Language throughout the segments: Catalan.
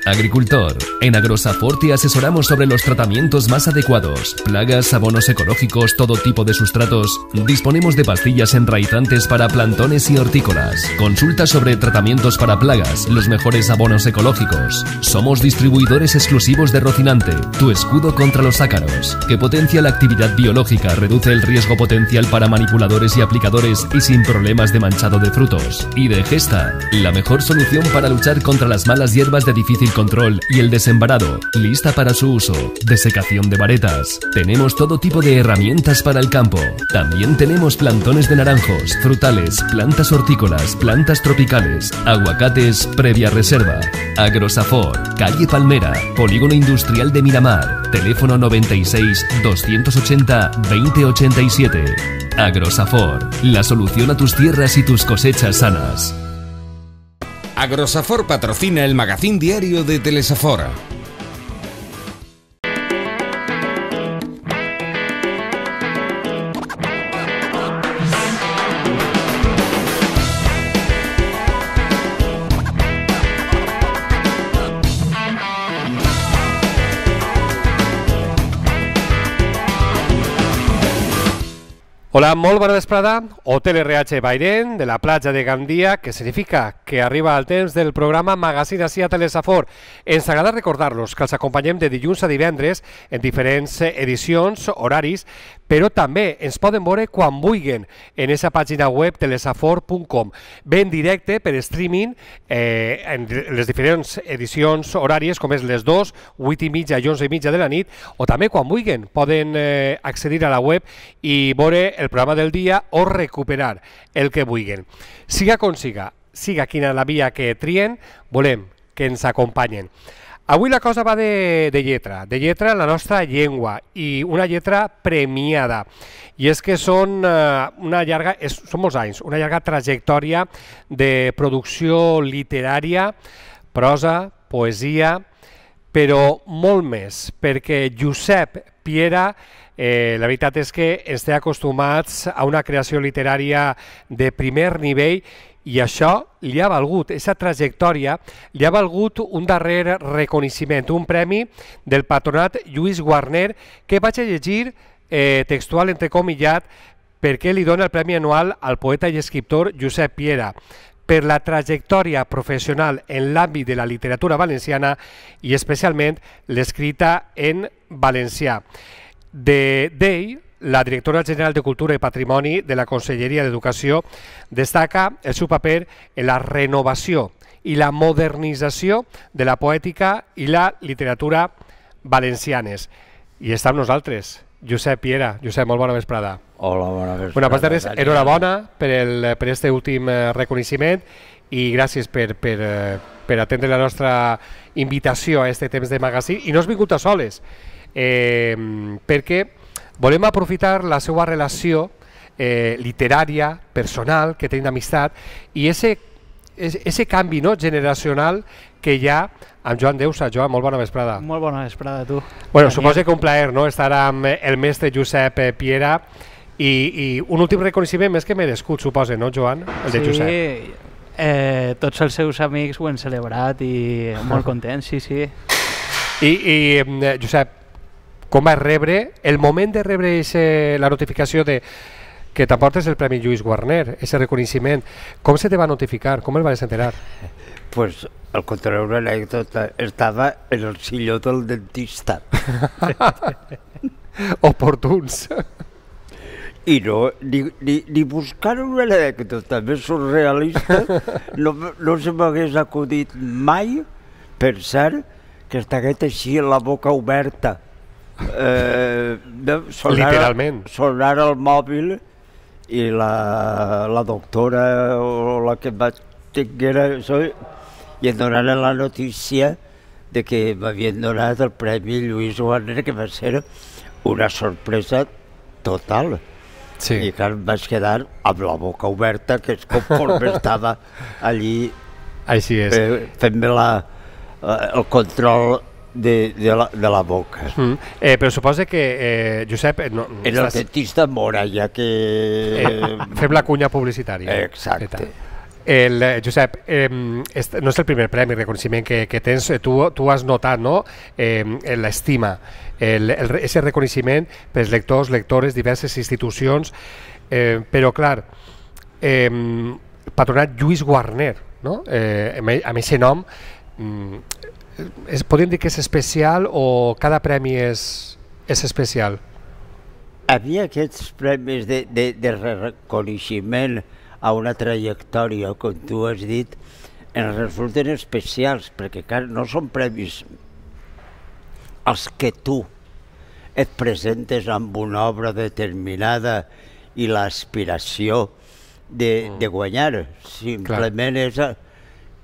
Agricultor. En Agrosafor te asesoramos sobre los tratamientos más adecuados. Plagas, abonos ecológicos, todo tipo de sustratos. Disponemos de pastillas enraizantes para plantones y hortícolas. Consulta sobre tratamientos para plagas, los mejores abonos ecológicos. Somos distribuidores exclusivos de Rocinante, tu escudo contra los ácaros, que potencia la actividad biológica, reduce el riesgo potencial para manipuladores y aplicadores y sin problemas de manchado de frutos. Y de Gesta, la mejor solución para luchar contra las malas hierbas de difícil control y el desembarado, lista para su uso. Desecación de varetas. Tenemos todo tipo de herramientas para el campo. También tenemos plantones de naranjos, frutales, plantas hortícolas, plantas tropicales, aguacates previa reserva. Agrosafor, calle Palmera, Polígono Industrial de Miramar, teléfono 96 280 2087. Agrosafor, la solución a tus tierras y tus cosechas sanas. Agrosafor patrocina el magazín diario de Telesafor. Hola, molt bona vesprada. Hotel RH Bairen, de la platja de Gandia, que significa que arriba el temps del programa Magazín ací a Telesafor. Ens agrada recordar-los que els acompanyem de dilluns a divendres en diferents edicions, horaris, però també ens poden veure quan vulguin en esa pàgina web telesafor.com. Bé en directe per streaming en les diferents edicions horàries, com és les 2, 8:30 i 11:30 de la nit, o també quan vulguin poden accedir a la web i veure el programa del dia o recuperar el que vulguin. Siga com siga quina la via que trien, volem que ens acompanyen. Avui la cosa va de lletra la nostra llengua, i una lletra premiada. I és que són molts anys, una llarga trajectòria de producció literària, prosa, poesia, però molt més, perquè Josep Piera, la veritat és que ens té acostumats a una creació literària de primer nivell, i això li ha valgut, aquesta trajectòria, li ha valgut un darrer reconeixement, un premi del Patronat Lluís Guarner, que vaig a llegir textual entrecomillat, perquè li dona el premi anual al poeta i escriptor Josep Piera, per la trajectòria professional en l'àmbit de la literatura valenciana i especialment l'escrita en valencià. D'ell, la directora general de Cultura i Patrimoni de la Conselleria d'Educació destaca el seu paper en la renovació i la modernització de la poètica i la literatura valencianes. I està amb nosaltres, Josep Piera. Josep, molt bona vesprada. Hola, bona vesprada. Bueno, abans de res, enhorabona per aquest últim reconeixement i gràcies per atendre la nostra invitació a aquest temps de magazín. I no has vingut a soles, perquè volem aprofitar la seva relació literària, personal, que tenim d'amistat, i ese canvi generacional que hi ha amb Joan Deusa. Joan, molt bona vesprada. Molt bona vesprada a tu. Bueno, suposo que un plaer estar amb el mestre Josep Piera, i un últim reconeixement més que merescut, suposa, no, Joan? El de Josep. Sí, tots els seus amics ho han celebrat i molt contents, sí. I Josep, com vas rebre, el moment de rebre la notificació de que t'aportes el Premi Lluís Guarner, aquest reconeixement, com se te va notificar? Com el vas enterar? Pues, al contrari, una anècdota, estava en el silló del dentista. Oportuns. I no, ni buscar una anècdota més surrealista no se m'hagués acudit mai pensar que estigués així amb la boca oberta. Literalment. Sonar el mòbil i la doctora o la que vaig tenir i em donaren la notícia de que m'havien donat el Premi Lluís Guarner, que va ser una sorpresa total. I clar, em vaig quedar amb la boca oberta, que és conforme estava allí fent-me el control de la boca. Però suposa que, Josep... En el dentista Mora, ja que... Fem la cunya publicitària. Exacte. Josep, no és el primer premi, reconeixement que tens, tu has notat, no?, l'estima, ese reconeixement pels lectors, lectores, diverses institucions, però clar, Patronat Lluís Guarner, no?, amb aquest nom, podríem dir que és especial o cada premi és especial? A mi aquests premis de reconeixement a una trajectòria, com tu has dit, ens resulten especials, perquè no són premis als que tu et presentes amb una obra determinada i l'aspiració de guanyar. Simplement és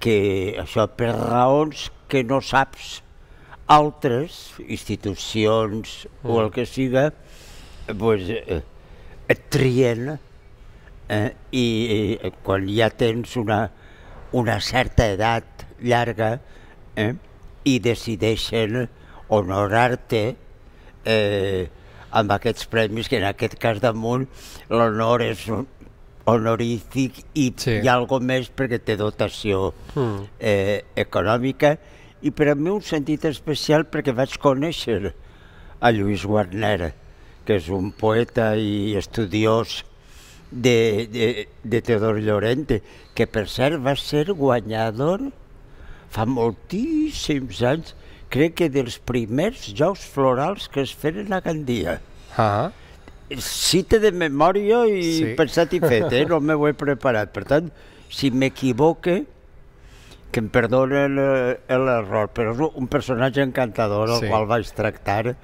que això per raons que no saps, altres institucions o el que siga, et trien i quan ja tens una certa edat llarga i decideixen honorar-te amb aquests premis, que en aquest cas damunt l'honor és honorífic i hi ha alguna més perquè té dotació econòmica, i per a mi un sentit especial perquè vaig conèixer a Lluís Guarner, que és un poeta i estudiós de Teodor Llorente, que per cert va ser guanyador fa moltíssims anys, crec que dels primers Jocs Florals que es feren a Gandia. Cita de memòria i pensat i fet, no m'ho he preparat. Per tant, si m'equivoque, que em perdonen l'error, però és un personatge encantador el qual vaig tractar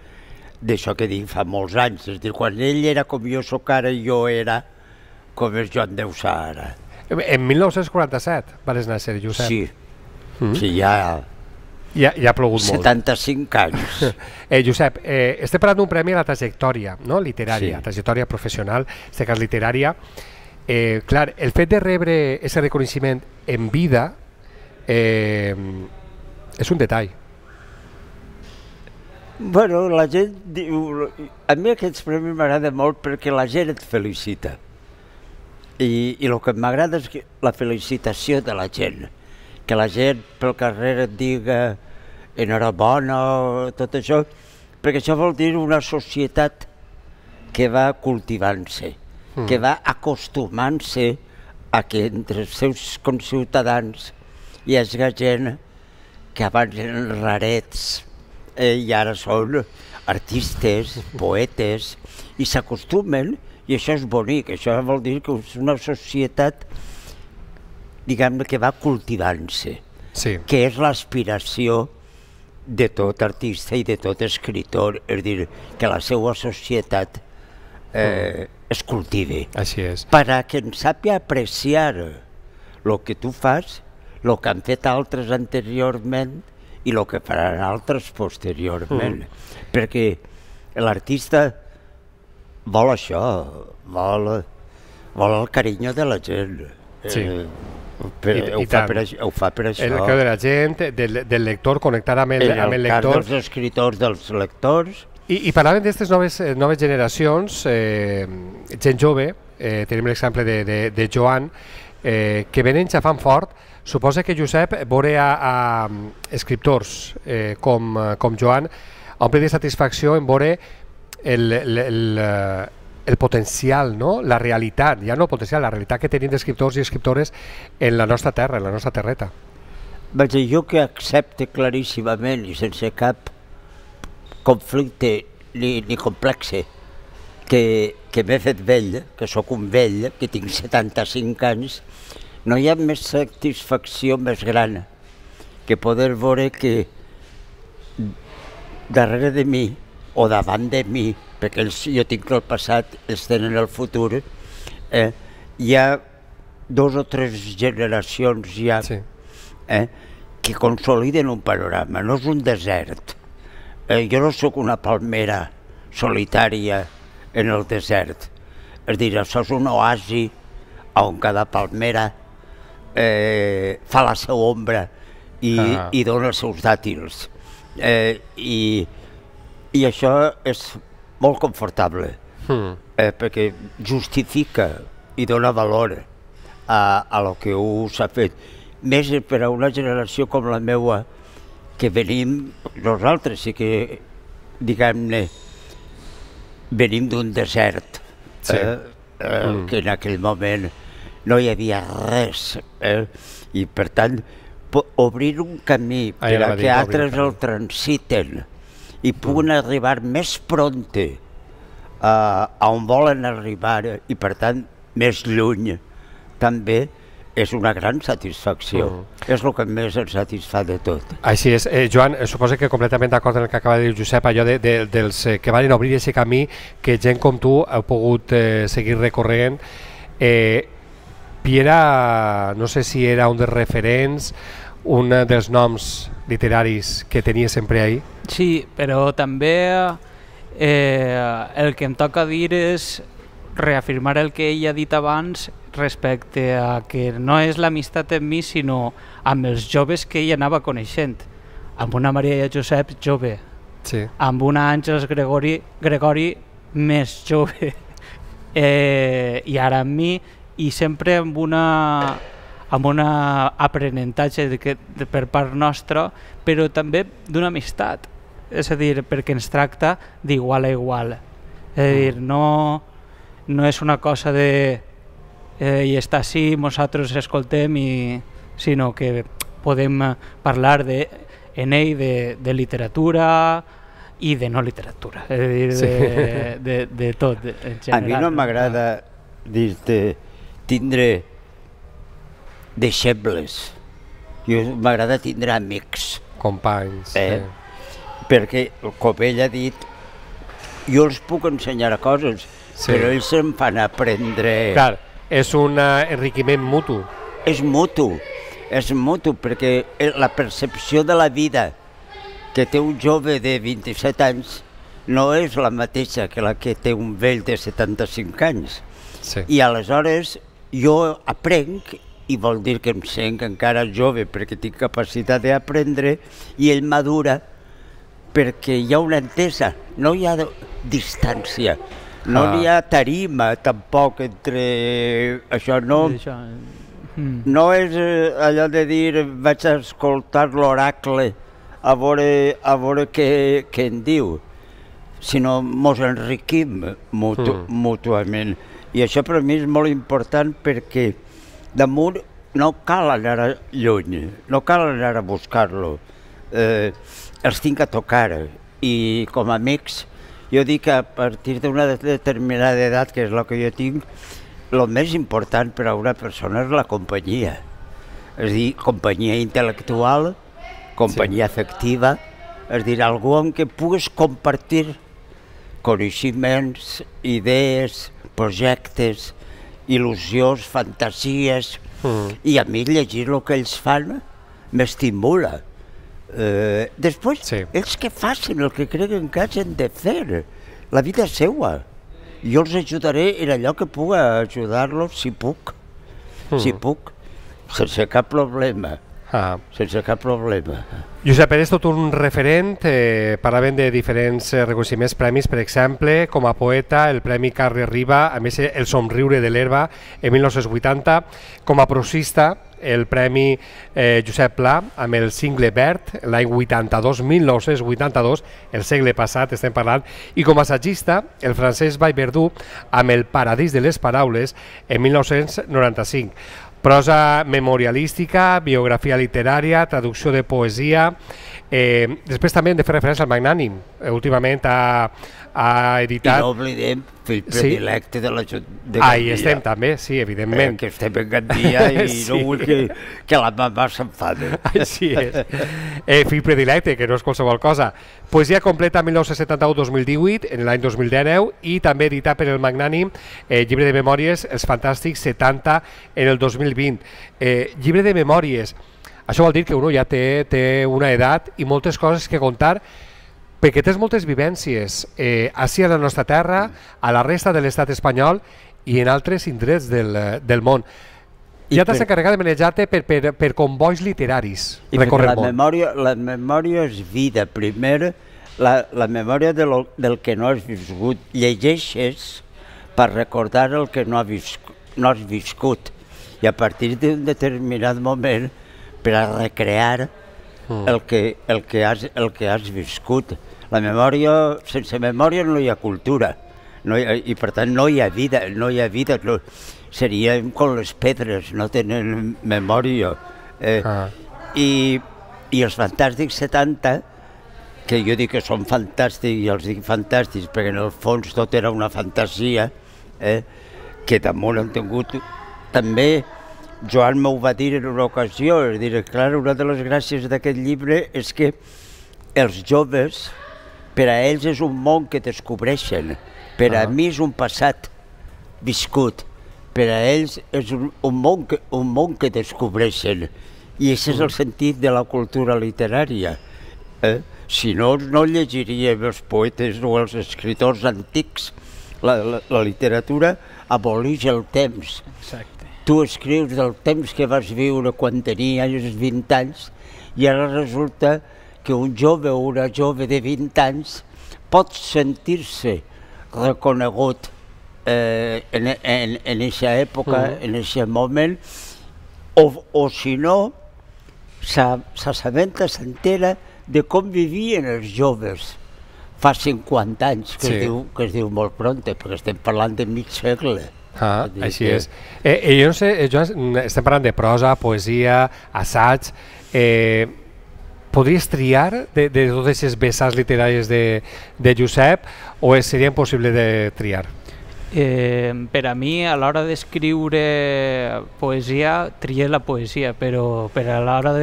d'això que dic fa molts anys. És a dir, quan ell era com jo soc ara i jo era com és Joan Deusà ara. En 1947 vas néixer, Josep. Sí, ja ha plogut molt. 75 anys. Josep, estem parlant d'un premi a la trajectòria literària, trajectòria professional, en aquest cas literària. Clar, el fet de rebre aquest reconeixement en vida és un detall. Bueno, la gent diu... A mi aquests premis m'agrada molt perquè la gent et felicita. I el que m'agrada és la felicitació de la gent. Que la gent pel carrer et diga enhorabona, tot això, perquè això vol dir una societat que va cultivant-se, que va acostumant-se a que entre els seus conciutadans hi hagi gent que abans eren rarets i ara són artistes, poetes, i s'acostumen, i això és bonic, això vol dir que és una societat, diguem-ne, que va cultivant-se, que és l'aspiració de tot artista i de tot escriptor, és a dir, que la seva societat es cultivi. Així és. Perquè en sàpia apreciar el que tu fas, el que han fet altres anteriorment i el que faran altres posteriorment. Perquè l'artista vol això, vol el carinyo de la gent. Ho fa per això. El que de la gent, del lector, connectar amb el lector. En el cas dels escriptors, dels lectors. I parlàvem d'aquestes noves generacions, gent jove, tenim l'exemple de Joan, que venen xafant fort. Suposa que, Josep, veure a escriptors com Joan omple de satisfacció en veure el potencial, la realitat, ja no el potencial, la realitat que tenim d'escriptors i escriptores en la nostra terra, en la nostra terreta. Vaig dir, jo que accepte claríssimament i sense cap conflicte ni complexe que m'he fet vell, que sóc un vell, que tinc 75 anys, no hi ha més satisfacció més gran que poder veure que darrere de mi o davant de mi, perquè jo tinc el passat, ells tenen el futur, hi ha 2 o 3 generacions ja que consoliden un panorama, no és un desert. Jo no sóc una palmera solitària en el desert, és a dir, això és un oasi on cada palmera fa la seva ombra i dona els seus dàtils. I això és molt confortable, perquè justifica i dona valor a lo que s'ha fet. Més per a una generació com la meva, que venim, nosaltres sí que, diguem-ne, venim d'un desert, que en aquell moment no hi havia res, i per tant obrir un camí per a que altres el transiten i puguen arribar més prompte a on volen arribar i per tant més lluny també és una gran satisfacció. És el que més ens satisfà de tot. Així és. Joan, suposo que completament d'acord amb el que acaba de dir Josep, allò dels que van obrir aquest camí, que gent com tu heu pogut seguir recorrent. Piera, no sé si era un dels referents, un dels noms literaris que tenia sempre ahí. Sí, però també el que em toca dir és reafirmar el que ell ha dit abans respecte a que no és l'amistat amb mi, sinó amb els joves que ell anava coneixent. Amb una Maria Josep jove, amb una Àngels Gregori més jove, i ara amb mi, i sempre amb un aprenentatge per part nostra, però també d'una amistat, és a dir, perquè ens tracta d'igual a igual. És a dir, no és una cosa de i està així, nosaltres escoltem, sinó que podem parlar en ell de literatura i de no literatura, és a dir, de tot en general. A mi no m'agrada dir-te tindre deixebles, m'agrada tindre amics, companys, perquè com ell ha dit, jo els puc ensenyar coses, però ells em fan aprendre. Clar, és un enriquiment mutu. És mutu, perquè la percepció de la vida que té un jove de 27 anys no és la mateixa que la que té un vell de 75 anys. I aleshores jo aprenc, i vol dir que em sent encara jove perquè tinc capacitat d'aprendre, i ell madura perquè hi ha una entesa, no hi ha distància. No n'hi ha tarima tampoc entre això, no és allò de dir vaig a escoltar l'oracle a veure què en diu, sinó mos enriquim mútuament. I això per a mi és molt important perquè damunt no cal anar lluny, no cal anar a buscar-lo, els tinc a tocar i com a amics jo dic que a partir d'una determinada edat, que és el que jo tinc, el més important per a una persona és la companyia. És a dir, companyia intel·lectual, companyia afectiva, és a dir, algú amb què pugues compartir coneixements, idees, projectes, il·lusions, fantasies, i a mi llegir el que ells fan m'estimula. Després, ells que facin el que creguen que hagin de fer, la vida és seua. Jo els ajudaré en allò que pugui ajudar-los si puc, sense cap problema. Sense cap problema. Josep, eres tot un referent, parlàvem de diferents reconeixements, premis, per exemple, com a poeta, el Premi Carles Riba, a més el Somriure de l'Herba en 1980, com a prosista, el Premi Josep Pla amb el Cingle Verd l'any 1982, el segle passat estem parlant, i com a assagista el Francesc Vallverdú amb el Paradís de les Paraules en 1995. Prosa memorialística, biografia literària, traducció de poesia. Després també hem de fer referència al Magnànim. Últimament ha editat... I no oblidem fill predilecte de l'Ajuntament de Gandia. Ahí estem també, sí, evidentment. Que estem en Gandia i no vull que la mamà s'enfade. Així és. Fill predilecte, que no és qualsevol cosa. Poesia completa 1971-2018, en l'any 2019, i també editat per el Magnànim, llibre de memòries, Els Fantàstics 70, en el 2020. Llibre de memòries. Això vol dir que uno ja té una edat i moltes coses que contar, perquè tens moltes vivències així a la nostra terra, a la resta de l'estat espanyol i en altres indrets del món. Ja t'has encarregat de manejar-te per convois literaris. I perquè la memòria és vida. Primer, la memòria del que no has viscut. Llegeixes per recordar el que no has viscut. i a partir d'un determinat moment per a recrear el que has viscut. La memòria, sense memòria no hi ha cultura, i per tant no hi ha vida, serien com les pedres, no tenen memòria. I els Fantàstics 70, que jo dic que són fantàstics, i els dic fantàstics perquè en el fons tot era una fantasia, que damunt han tingut també. Joan m'ho va dir en una ocasió, és dir, clar, una de les gràcies d'aquest llibre és que els joves, per a ells és un món que descobreixen, per a mi és un passat viscut, per a ells és un món que descobreixen, i aquest és el sentit de la cultura literària. Si no, no llegiríem els poetes o els escriptors antics. La literatura aboleix el temps. Exacte. Tu escrius del temps que vas viure quan tenies 20 anys i ara resulta que un jove o una jove de 20 anys pot sentir-se reconegut en aquesta època, en aquest moment, o si no, s'assabenta, s'entera de com vivien els joves fa 50 anys, que es diu molt pronte, perquè estem parlant de mig segle. Així és. Jo no sé, Joan, estem parlant de prosa, poesia, assaig. Podries triar de totes aquestes vessants literàries de Josep o seria impossible de triar? Per a mi, a l'hora d'escriure poesia, trié la poesia, però per a l'hora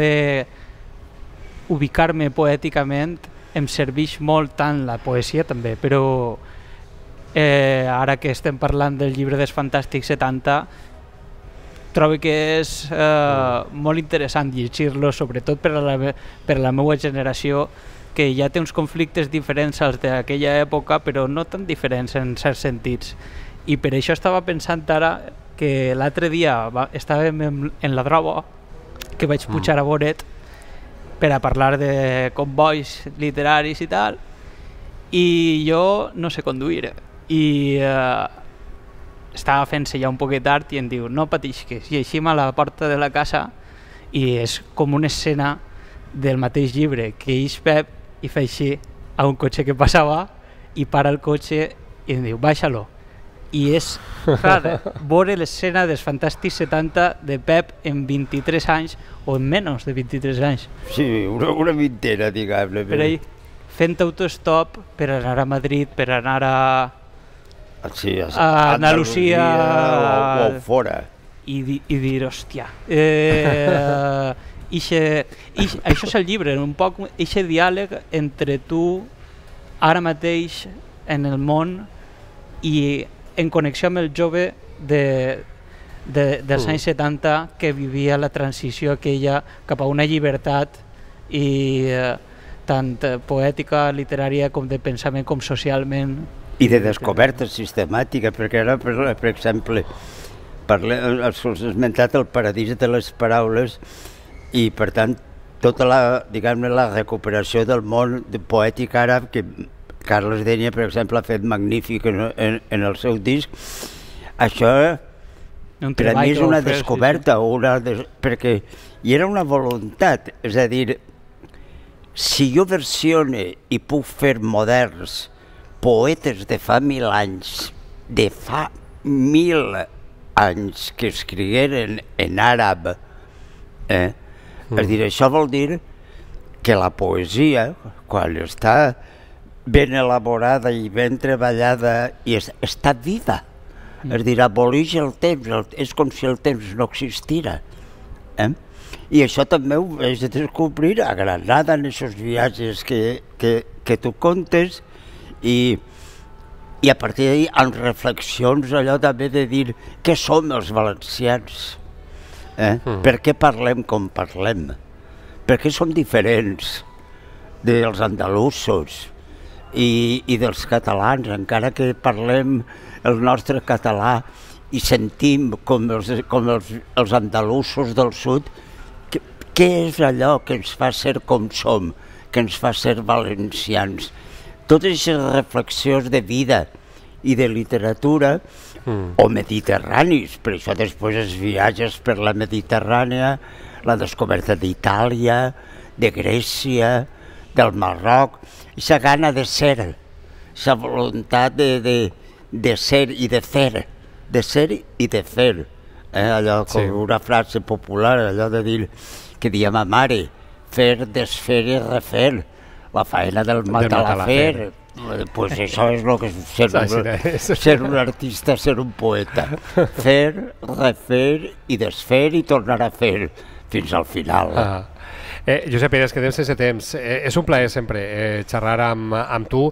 d'ubicar-me poèticament em serveix molt tant la poesia també, però ara que estem parlant del llibre dels Fantàstics 70, trobo que és molt interessant llegir-lo, sobretot per a la meva generació, que ja té uns conflictes diferents als d'aquella època, però no tan diferents en certs sentits. I per això estava pensant ara que l'altre dia estàvem en la droga, que vaig pujar a Boret per a parlar de combois literaris i tal, i jo no sé conduir, i estava fent-se ja un poquet tard i em diu, no pateixis, i eixim a la porta de la casa i és com una escena del mateix llibre, que eix Pep i fa així a un cotxe que passava i para el cotxe i em diu, baixa-lo. I és, clar, veure l'escena dels Fantàstics 70 de Pep en 23 anys o en menys de 23 anys. Sí, una vintena, diguem-ne. Per ahí, fent autostop per anar a Madrid, per anar a Andalusia o fora. I dir, hòstia, això és el llibre, un poc aquest diàleg entre tu ara mateix en el món i en connexió amb el jove dels anys 70 que vivia la transició aquella cap a una llibertat i tant poètica, literària com de pensament com socialment. I de descoberta sistemàtica, perquè ara, per exemple, has esmentat el paradís de les paraules i, per tant, tota la recuperació del món poètic àrab que Carles Dénia, per exemple, ha fet magnífic en el seu disc. Això per a mi és una descoberta, perquè hi era una voluntat, és a dir, si jo versione i puc fer moderns poetes de fa 1000 anys, de fa 1000 anys que escrigueren en àrab, és dir, això vol dir que la poesia, quan està ben elaborada i ben treballada i està viva, és dir, aboleix el temps, és com si el temps no existira. I això també ho vaig descobrir a Granada en aquests viatges que tu contes i a partir d'ahir amb reflexions allò també de dir què som els valencians, per què parlem com parlem, per què som diferents dels andalusos i dels catalans, encara que parlem el nostre català i sentim com els andalusos del sud, què és allò que ens fa ser com som, que ens fa ser valencians? Totes aquestes reflexions de vida i de literatura, o mediterranis, per això després els viatges per la Mediterrània, la descoberta d'Itàlia, de Grècia, del Marroc, aquesta gana de ser, aquesta voluntat de ser i de fer, de ser i de fer. Allò com una frase popular, allò de dir, que deia ma mare, fer, desfer i refer, la faena del matalafer. Pues això és el que és ser un artista, ser un poeta. Fer, refer i desfer i tornar a fer fins al final. Josep Pere, es quedem sense temps. És un plaer sempre xerrar amb tu.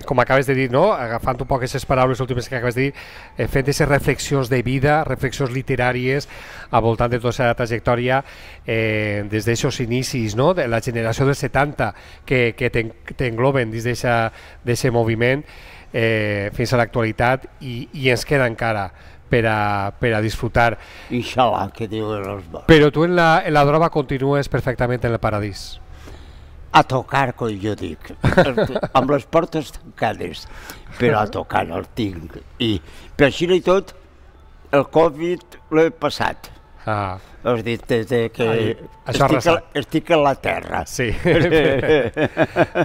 Com acabes de dir, no? Agafant un poc aquestes paraules últimes que acabes de dir, fent aquestes reflexions de vida, reflexions literàries al voltant de tota la trajectòria des d'aixòs inicis, no? De la generació dels 70 que t'engloben dins d'aquest moviment fins a l'actualitat i ens queda encara per a disfrutar. Inshallah, que diuen els bons. Però tu en la droga continues perfectament en el paradís. A tocar, com jo dic, amb les portes tancades, però a tocar el tinc. I per així i tot, el Covid l'he passat. Has dit que estic a la terra. Sí.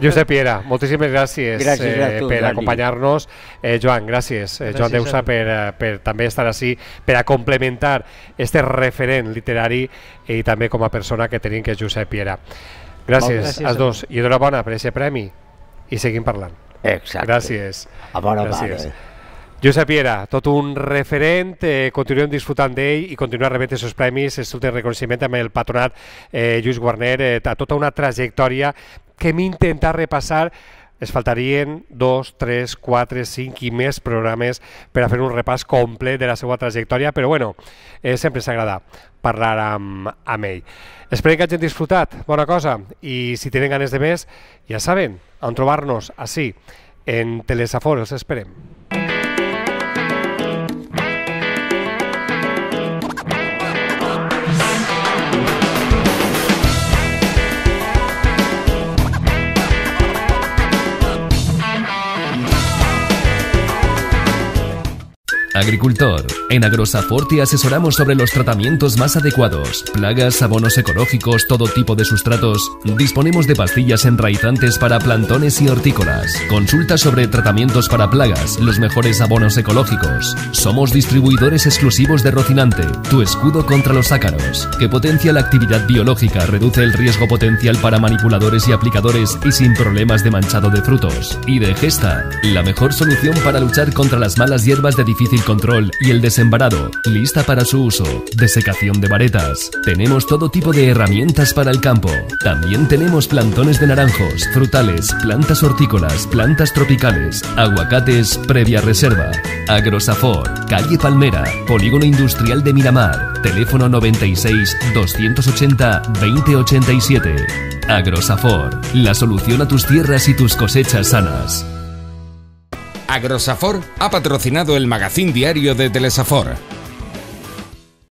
Josep Piera, moltíssimes gràcies per acompanyar-nos. Joan, gràcies. Joan Deusa per també estar així, per a complementar este referent literari i també com a persona que tenim, que és Josep Piera. Gràcies als dos i enhorabona per aquest premi i seguim parlant. Exacte. Gràcies. A bona part. Josep Piera, tot un referent, continuem disfrutant d'ell i continuem rebent els seus premis, és tot el reconeixement amb el patronat Lluís Guarner, a tota una trajectòria que hem intentat repassar. Es faltarien 2, 3, 4, 5 i més programes per a fer un repàs complet de la seva trajectòria, però bueno, sempre s'agrada parlar amb ell. Esperem que hagin disfrutat, bona cosa, i si tenen ganes de més, ja saben on trobar-nos, així, en Telesafor, els esperem. Agricultor. En Agrosafor te asesoramos sobre los tratamientos más adecuados, plagas, abonos ecológicos, todo tipo de sustratos. Disponemos de pastillas enraizantes para plantones y hortícolas. Consulta sobre tratamientos para plagas, los mejores abonos ecológicos. Somos distribuidores exclusivos de Rocinante, tu escudo contra los ácaros, que potencia la actividad biológica, reduce el riesgo potencial para manipuladores y aplicadores y sin problemas de manchado de frutos. Y de Gesta, la mejor solución para luchar contra las malas hierbas de difícil control y el desembarado, lista para su uso, desecación de varetas. Tenemos todo tipo de herramientas para el campo. También tenemos plantones de naranjos, frutales, plantas hortícolas, plantas tropicales, aguacates previa reserva. Agrosafor, calle Palmera, Polígono Industrial de Miramar, teléfono 96 280 2087. Agrosafor, la solución a tus tierras y tus cosechas sanas. Agrosafor ha patrocinado el magazín diario de Telesafor.